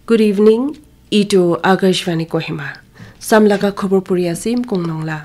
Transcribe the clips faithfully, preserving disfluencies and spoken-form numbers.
Good evening. Itu Akashvani Kohima. Samlaga khobor puri asim kongnong la.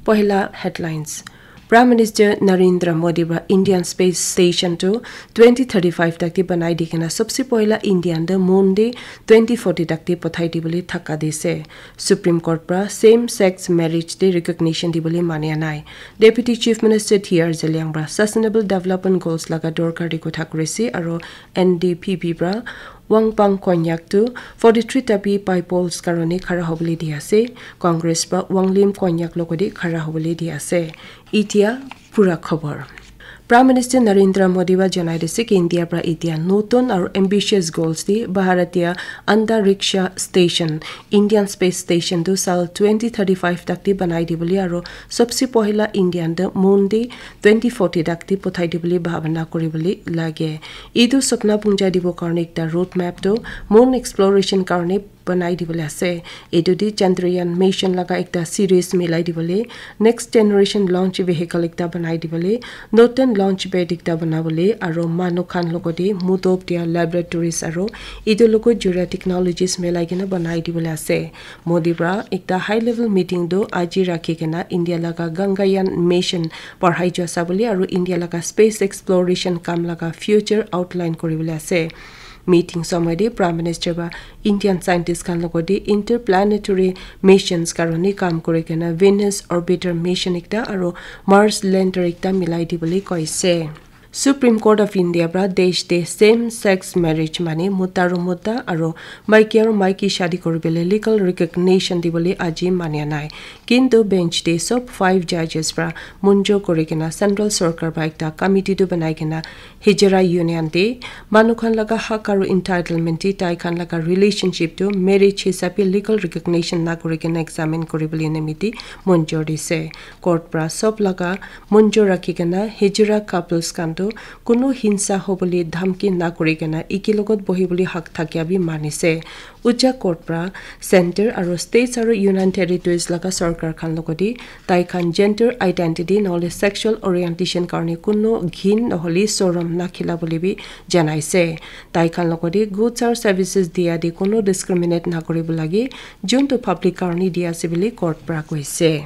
Pohila headlines. Prime Minister Narendra Modi pra Indian Space Station to twenty thirty-five takti banai di kena sobse pohila Indian de moon de twenty forty takti pothai di bole thaka dise. Supreme Court pra same sex marriage de recognition di bole mania nai. Deputy Chief Minister T R Zeliang pra Sustainable Development Goals laga dorkar di kotha kurisi aro N D P P pra Wangpang Konyak tu forty-three tapi paipols karone khara hobole di ase. Congress pra Wanglim Konyak logodi khara hobole di ase. Itia pura khobor. Prime Minister Narendra Modi ba janai dise ki India pra itia notun aru ambitious goals di Bharatiya Antariksha Station, Indian Space Station tu sal twenty thirty-five takti banai di bole aru sobse pohila Indian de moon di twenty forty takti pothai di bole bhabana kuri bole lage. Itu sapna punja dibo karone ekta roadmap tu moon exploration karone banai di bole ase. Itu di Chandrayaan mission laga ekta series milai di bole, next generation launch vehicle ekta banai di bole, notun launch pad ekta bana bole, aro manu khan logodi mudop dia laboratories aro itu logo jura technologies milai kena banai di bole ase. Modi pra ekta high level meeting tu aji rakhi kena India laga Gangayaan mission parhai jua sa bole aro India laga space exploration kam laga future outline kuri bole ase. Meeting somoy de Prime Minister ba Indian scientist khan logodi interplanetary missions karone kam kuri kena Venus orbiter mission ekta aro Mars lander ekta milai di bole koise. Supreme Court of India pra desh de same sex marriage mane mota aro mota aro maiki aro maiki shadi kuri bole legal recognition di bole aji mania nai. Kintu bench de sob five judges pra munjo kuri kena central sorkar ba ekta committee tu banai kena Hijra Union de manu khan laga hak aru entitlement de tai khan laga relationship tu marriage hisabe legal recognition na kuri kena examine kuri bole nimiti monjor dise. Court pra sob laga monjor rakhi kena hijra couples khan tu kunu hinsa hobole dhamki na kuri kena iki logot bohi bole hak thakia bi manise. Ucha court pra center aro states aro union territories laga sorkar khan logodi tai khan gender identity nohole sexual orientation karone kunu ghin nohole sorom nakhila bole bi janaise. Tai khan logodi goods aro services dia de kunu discriminate nakuribo lage, juntu public karone dia ase bole court pra koise.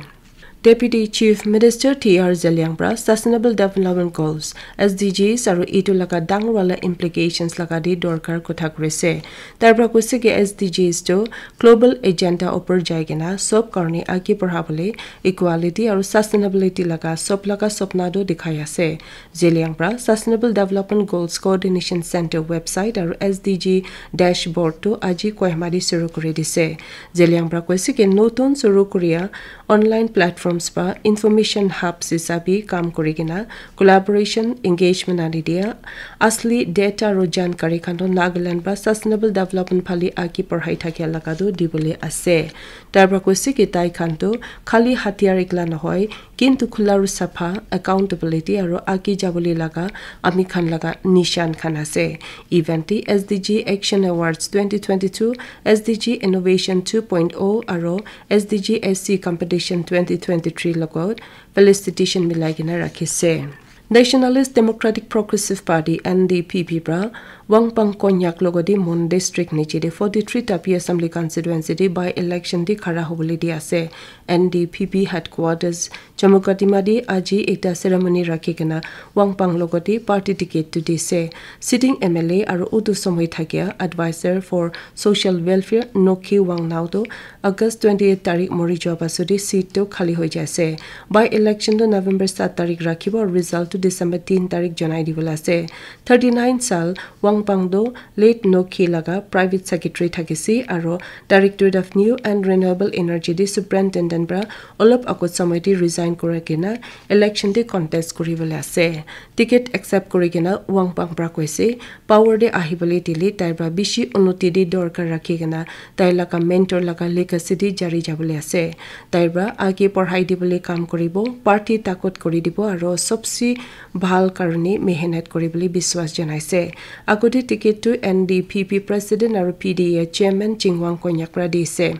Deputy Chief Minister T R Zeliang pra Sustainable Development Goals, S D Gs, aru itu laga dangor wala implications laga di dorkar kotha kurise. Tai pra koise ki S D Gs tu global agenda upor jai kena sob karone age bole equality aru sustainability laga sob laga sopna tu dikhai ase. Zeliang pra Sustainable Development Goals Coordination Center website aru S D G dashboard tu aji Kohima di suru kuri dise. Zeliang pra koise ki notun suru kuria online platforms pa information hubs hisabe kam kuri kena collaboration engagement ani dia asli data aro jankari khan toh Nagaland pa sustainable development phale age parhai thakia laga toh dibole ase. Tai pra koise ki tai khan toh khali hatiyar ekla nohoi, kintu khula aro sapha, accountability aro age jabole laga ami khan laga nishan khan ase. Event te S D G Action Awards twenty twenty-two, S D G Innovation two point oh aro S D G S C Competition twenty twenty-three logot felicitation milai kena rakhise. Nationalist Democratic Progressive Party, N D P P, pra Wangpang Konyak logodi Mon District niche de forty-three Tapi Assembly Constituency de by election de khara hobole di ase. N D P P headquarters Jammu Kadima de aji ekta ceremony rakhi kena Wangpang logodi party ticket tu dise. Sitting M L A aru utu somoi thakia advisor for social welfare Nokhi Wangnao tu August twenty-eight tarik mori jua pasudi seat tu khali hoi jaise. By election tu November saat tarik rakhibo, result tu December tin tarik janai dibole ase. Thirty-nine saal Wangpang tu late Nokhi laga private secretary thakise aro Directorate of New and Renewable Energy de superintendent pra olop agot somoi de resign kura kena election de contest kuribole ase. Ticket accept kuri kena Wangpang pra koise, power de ahibole dile tai pra bishi unnoti de dorkar rakhi kena tai laga mentor laga legacy de jari jabole ase. Tai pra age parhai dibole kam kuribo, party takot kuri dibo aro sobse bhal karone mehnat kuribole biswas janaise. Agote ticket tu N D P P president aro P D A chairman Chingwang Konyak pra dise.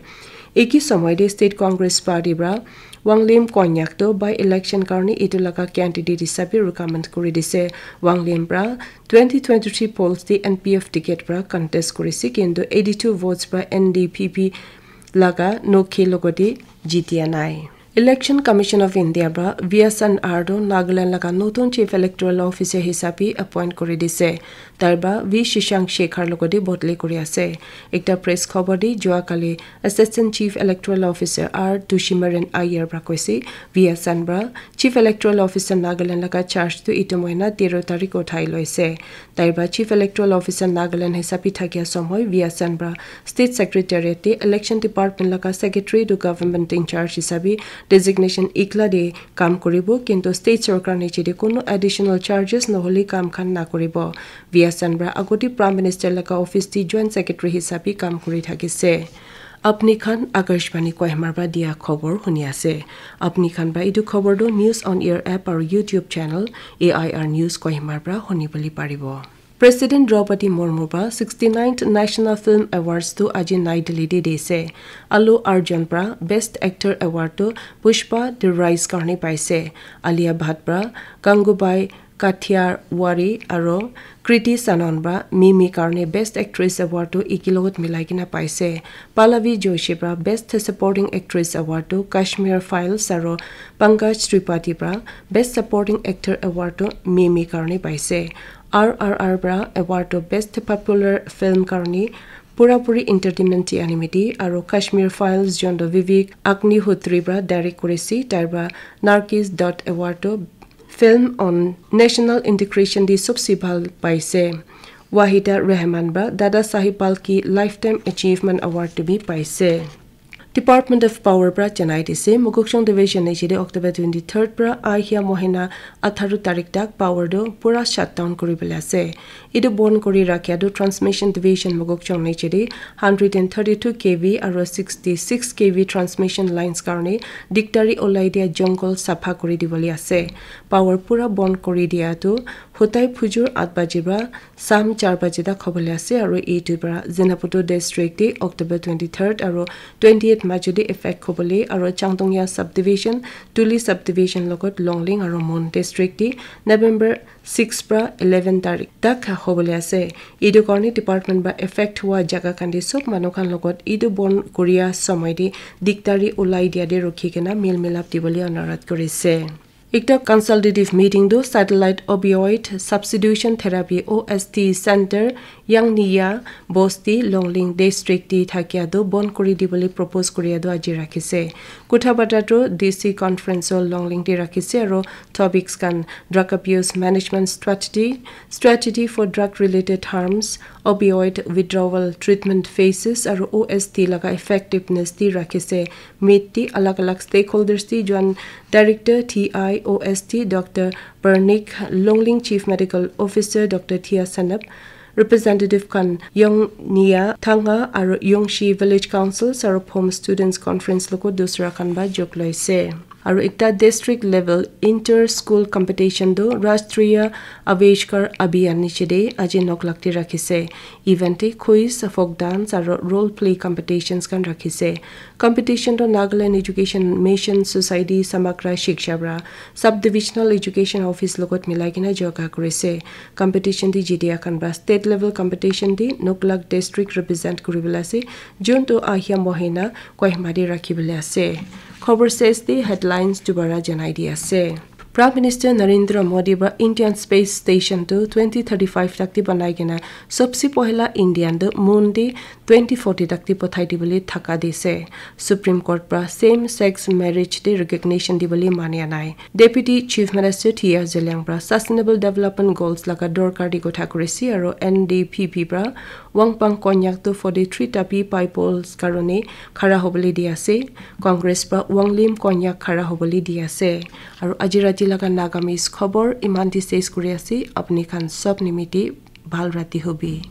Eki somoi de State Congress Party pra Wanglim Konyak tu by election karni itu laga candidate hisabe recommend kuri dise. Wanglim pra twenty twenty-three polls di N P F ticket pra contest kurise, kintu eighty-two votes pra N D P P laga nokhe logodi jitia nai. Election Commission of India pra Viasan Ardo Nagaland laga notun Chief Electoral Officer hisabe appoint kuri dise. Tarba V Shishang Shekhar logodi bodli kuri ase. Ekta press khobor di jua kali Assistant Chief Electoral Officer R Tushimaran Ayer pra koise, Viasan pra Chief Electoral Officer Nagaland laga charge tu itu mohina tero tarik uthai loise. Tarba Chief Electoral Officer Nagaland hisabe thakia somoy Viasan pra State Secretariat te Election Department laga Secretary to Government in Charge hisabe designation ikla de kam kuribo, kintu State Sorkar niche de kono additional charges nohole kam khan na kuribo. Viasan pra agoti Prime Minister laga office te Joint Secretary hisabe kam kuri thakise. Apni khan Akashvani Kohima pra dia khobor huni ase. Apni khan pra itu khobor tu News on Air app aru YouTube channel A I R News Kohima pra huni bole paribo. President Draupadi Murmu pra sixty-ninth National Film Awards tu aji Nai Delhi de dise. Allu Arjun pra Best Actor Award tu Pushpa The Rise karni paise. Alia Bhatt pra Gangubai Kathiawar aru Kriti Sanon pra Mimi karni Best Actress Award tu iki logot milai kena paise. Pallavi Joshi pra Best Supporting Actress Award tu Kashmir Files aru Pankaj Tripathi pra Best Supporting Actor Award tu Mimi karni paise. R R R pra award tu Best Popular Film karni Pura Puri Entertainment ti animiti aru Kashmir Files jonto Vivek Agnihotri pra direct kurise, tarba Nargis Dutt Award tu Film on National Integration di sobse bhal paise. Wahida Rehman pra Dada Saheb Phalke Lifetime Achievement Award tu bi paise. Department of Power pra janai dise, Mokokchung Division niche de October twenty-third pra ahia mohina atharo tarik tak power tu pura shutdown kuri bole ase. Itu bon kuri rakhia tu Transmission Division Mokokchung niche de hundred and thirty-two K V aru sixty-six K V transmission lines karni diktari olai dia jungle sapha kuri dibole ase. Power pura bon kuri dia tu hotai phujur at baji pra Sam char baje tak hobole ase aru itu pra Zunheboto district te October twenty-third aru twenty-eight majo te effect hobole aru Changdongya subdivision, Tuli subdivision logot Longling aru Mon district te November six pra eleven tarik tak hobole ase. Itu karni department pra effect hua jaga khan te sob manu khan logot itu bon kuria somoy te diktari ulai dia te rukhi kena mil milap dibole anurodh kurise. Ekta consultative meeting tu satellite opioid substitution therapy O S T center Yangniya Bosti Longling district te thakia tu bon kuri dibole propose kuria tu aji rakhise. Kotha bata tu D C conference hall Longling te rakhise aru topics khan drug abuse management strategy, strategy for drug related harms, opioid withdrawal treatment phases aru O S T laga effectiveness te rakhise. Meet te alag alag stakeholders te join Director T I O S T Doctor Pernik Longling, Chief Medical Officer Doctor Thia Sanap, representative khan Yongnia Thanga aru Yongshi Village Councils aru Phom Students Conference logo dusra khan ba jog loise. Aru ekta district level inter school competition tu Rashtriya Avishkar Abhiyan niche de aji nok lak te rakhise. Event te quiz, folk dance aru role play competitions khan rakhise. Competition tu Nagaland Education Mission Society Samagra Shiksha pra Sub Divisional Education Office logot milai kena joga kurise. Competition te jitia khan pra state level competition te nok lak district represent kuribole ase, jun tu ahia mohina Kohima te rakhibole ase. Khobor ses te headlines dubara janai di ase. Prime Minister Narendra Modi pra Indian Space Station tu twenty thirty-five tak te banai kena sobse pohila Indian tu moon te twenty forty tak te pothai dibole thaka dise. Supreme Court pra same sex marriage te recognition dibole mania nai. Deputy Chief Minister T R Zeliang pra Sustainable Development Goals laga dorkar di kotha kurise aru N D P P pra Wangpang Konyak tu forty-three tapi piples karone khara hobole di ase. Congress pra Wanglim Konyak khara hobole di ase. Aru aji rati laga Nagamese khobor iman te ses kuri ase. Apni khan sob nimite bhal rati hobi.